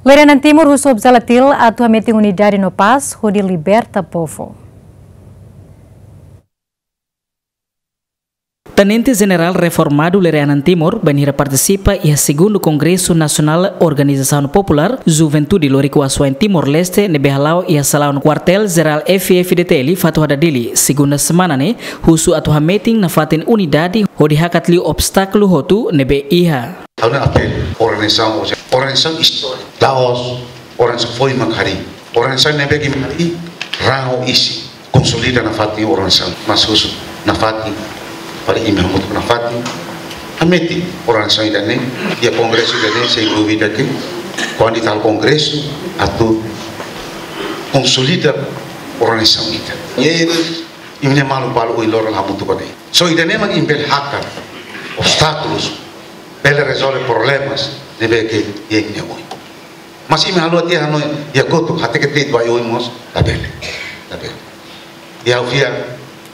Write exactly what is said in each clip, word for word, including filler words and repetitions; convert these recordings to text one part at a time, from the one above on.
Lere Anan Timur husu OPZLA TIL atu hametin unidade no pás hodi liberta povu. Tenente Jenerál reformadu Lere Anan Timur bainhira partisipa iha segundu Kongresu Nasionál Organizasaun Populár Juventude Loriku Asuwa'in Timor-Leste ne'ebé hala'o iha salaun Kuartél Jerál F-FDTL Fatuhada Dili, segunda semana ne'e, husu atu hametin nafatin unidade hodi hakat liu obstákulu hotu ne'ebé iha. Ha'u-nia apelu, organizasaun, organizasaun istóriku, la'ós organizasaun foin mak harii. Organizasaun ne'ebé ke mak harii, raan ho isin, konsolida nafatin organizasaun, mas husu nafatin, para imi hamutuk nafatin, hametin organizasaun ida-ne'e, iha kongresu ida-ne'e, sem dúvida ke, kuandu ita halo kongresu, atu konsolida organizasaun ita. I imi-nia maluk balu ohin loron la hamutuk ona. Só ida-ne'e mak imi bele hakat obstákulus, bele rezolve problemas ne'ebé ke iha imi-nia oin. Mas imi haluha tiha hanoin, iha kotuk, hateke de'it ba oin mós, labele. Labele. I ha'u fiar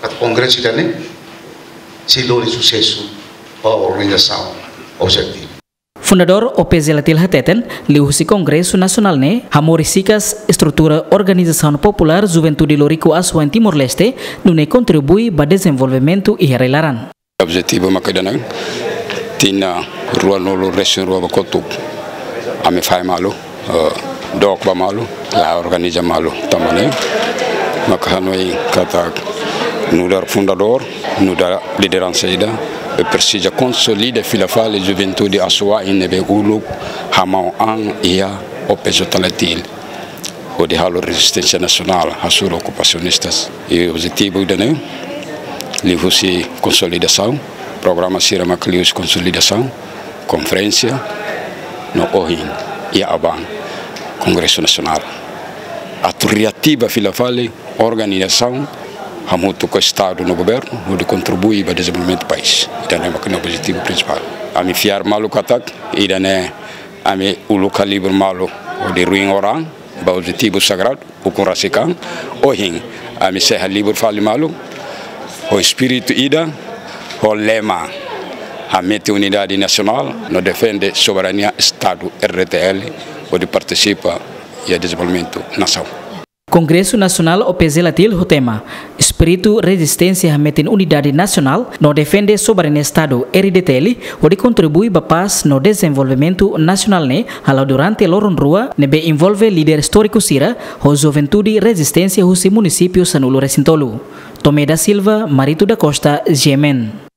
katak kongresu ida-ne'e sei lori susesu ba organizasaun OPZLA TIL. Fundadór OPZLA TIL hateten, liuhusi Kongresu Nasionál ne'e, hamoris hikas estrutura Organizasaun Populár Juventude Loriku Asuwa'in Timor-Leste, nune'e kontribui ba dezenvolvimentu iha rai-laran. Objetivu maka ida-ne'e, tinan ruanulu-resin-rua ba kotuk, ami fahe malu, eh, dook ba malu, la organiza malu. Tanba ne'e maka hanoin katak nu'udar fundadór, nu'udar lideransa ida, presiza konsolida fila fali juventude asuwa'in ne'ebé uluk hamau an iha OPZLA TIL, hodi halo rezisténsia nasionál hasoru okupasionistas. I objetivu ida-ne'e, liuhusi konsolidasaun, programa sira maka liuhusi konsolidasaun, konferénsia, no ohin, iha aban, Kongresu Nasionál. Atu reativa fila fali organizasaun, hamutuk ho Estadu no governu, hodi kontribui ba dezenvolvimentu país. Ida-ne'e maka nia objetivu prinsipál. Ami fiar malu katak, ida-ne'e ami uluk halibur malu, hodi ruin oran, ba objetivu sagradu, ukun rasik an, ohin, ami sei halibur fali malu, ho espíritu ida, ho lema, hametin unidade nasionál, no defende soberania Estadu RDTL, hodi partisipa iha dezenvolvimentu nasaun. Kongresu Nasionál OPZLA TIL ho tema, Espíritu rezisténsia hametin unidade nasionál, no defende soberania Estadu RDTL, hodi kontribui ba pás no dezenvolvimentu nasionál ne'e, hala'o durante loron rua, ne'ebé envolve líder istóriku sira, ho juventude rezisténsia husi munisípiu sanulu-resin-tolu. Tomé da Silva, Marito da Costa, GMN.